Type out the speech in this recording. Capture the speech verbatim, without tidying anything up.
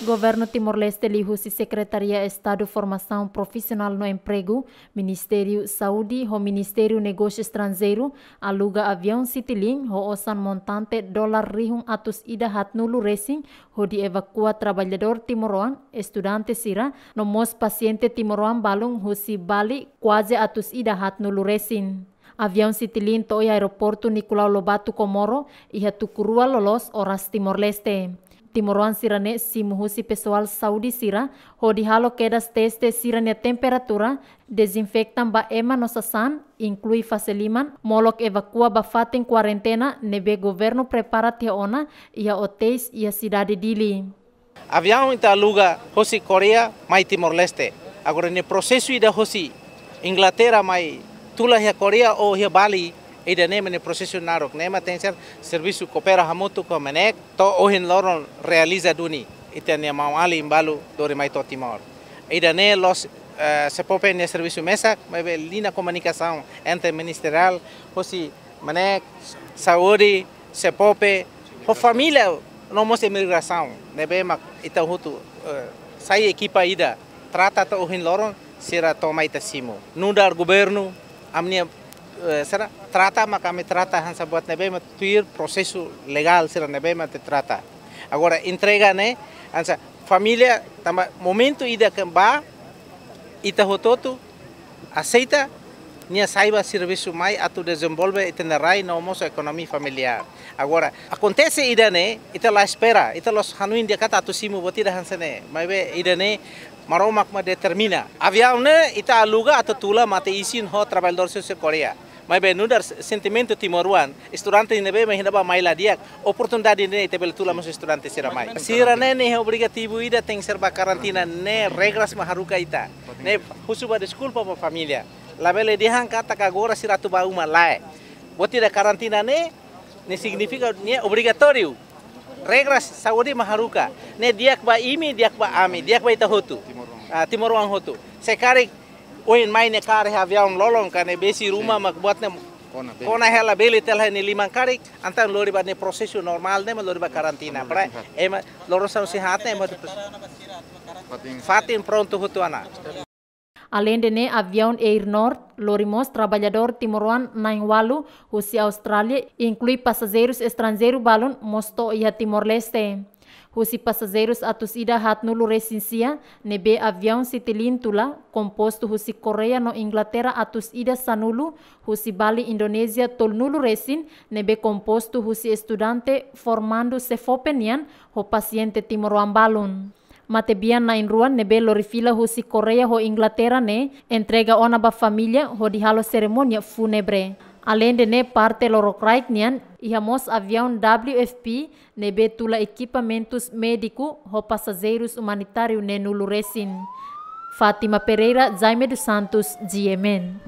Governu Timor-Leste liuhusi Sekretaria Estadu Formasaun Profisionál no Empregu, Ministériu Saúde ho Ministériu Negósiu Estranjeiru aluga aviaun Citilink ho osan montante dolar rihun atus ida haatnulu resin, hodi evakua traballadór timoroan, estudante sira, no mós pasiente timoroan balun husi Bali kuaze atus ida haatnulu resin. Aviaun Citilink to'o iha aeroportu Nicolau Lobato Comoro iha tuku rua loloos oras Timor-Leste. Timoroan sira-ne'e simu husi pesoál saúde sira, hodi halo kedas teste sira-nia temperatura, dezinfeta ba ema no sasán, inklui fase liman, molok evakua ba fatin kuarentena ne'ebé governu prepara tiha ona iha otéis iha sidade Dili. Aviaun ita aluga hosi Koreia mai Timor-Leste. Agora ne'e prosesu ida hosi Inglaterra mai tula iha Koreia ou iha Bali, ida-ne'e mak ne'e prosesu naruk. Ne'e mak tenke ser servisu koopera hamutuk ho MNEK, to'o ohin loron realiza duni. Ita-nia maun-alin balu lori mai to'o Timor. Ida-ne'e la'ós, eh, SEFOPE nia servisu mesak, maibé liña komunikasaun interministeriál, hosi MNEK, saúde, SEFOPE, ho família, no mós imigrasaun, ne'ebé mak ita hotu, eh, sai ekipa ida, trata to'o ohin loron, sira to'o mai ita simu. Nu'udar governu, ami-nia, eh, sira trata, mak ami trata hanesan buat ne'ebé mak tuir prosesu legál sira ne'ebé mak ita trata. Agora, entrega ne'e, hanesan família, tanba momentu ida ke ba, ita hotu-hotu aseita, nia sai ba servisu mai atu dezenvolve ita-nia rai no mós ekonomia familiár. Agora, akontese ida-ne'e, ita la espera, ita la'ós hanoin di'ak katak atu simu buat ida hanesan ne'e. Maibé ida-ne'e, Maromak mak determina. Aviaun ne'e, ita aluga atu tula mate-isin ho traballadór sira husi Koreia. Maibé nu'udar sentimentu timoroan, estudante ne'ebé mak iha ne'ebá mai la di'ak, oportunidade ne'e ita bele tula mós estudante sira mai. Sira-ne'e ne'e obrigativu ida tenke ser ba karantina, ne'e regras mak haruka ita. Ne'e husu ba deskulpa ba família. Labele dehan katak agora sira atu ba uma, lae. Buat ida karantina ne'e, ne'e signifika ne'e obrigatóriu. Regras saúde mak haruka. Ne'e di'ak ba imi, di'ak ba ami, di'ak ba ita hotu. Ah, timoroan hotu. Se karik ohin mai ne'e karik aviaun lolon ka ne'e besik ruma mak buat ne'e kona bele. Kona hela bele tela ne'e liman karik, entaun lori ba ne'e prosesu normál ne'e mak lori ba karantina. Para ema loron sanulu-resin-haat ne'e ema hotu fatin prontu hotu ona. Aleinde ne'e, aviaun Air North lori mós traballadór timoroan na'in-ualu husi Austrália, inklui pasajeirus estranjeiru balun mós to'o iha Timor-Leste. Husi pasajeirus atus ida haatnulu-resin-sia ne'ebé aviaun Citilink tula, kompostu husi Koreia no Inglaterra atus ida sanulu, husi Bali Indonézia tolunulu-resin, ne'ebé kompostu husi estudante formandu SEFOPE nian ho pasiente timoroan balun. Matebian na'in-rua ne'ebé lori fila husi Koreia ho Inglaterra ne'e entrega ona ba família hodi halo serimónia fúnebre. Aleinde ne'e, parte lorokraik nian, iha mós aviaun W F P ne'ebé tula ekipamentus médiku ho pasajeirus umanitáriu neenulu-resin. Fátima Pereira, Jaime dos Santos, G M N.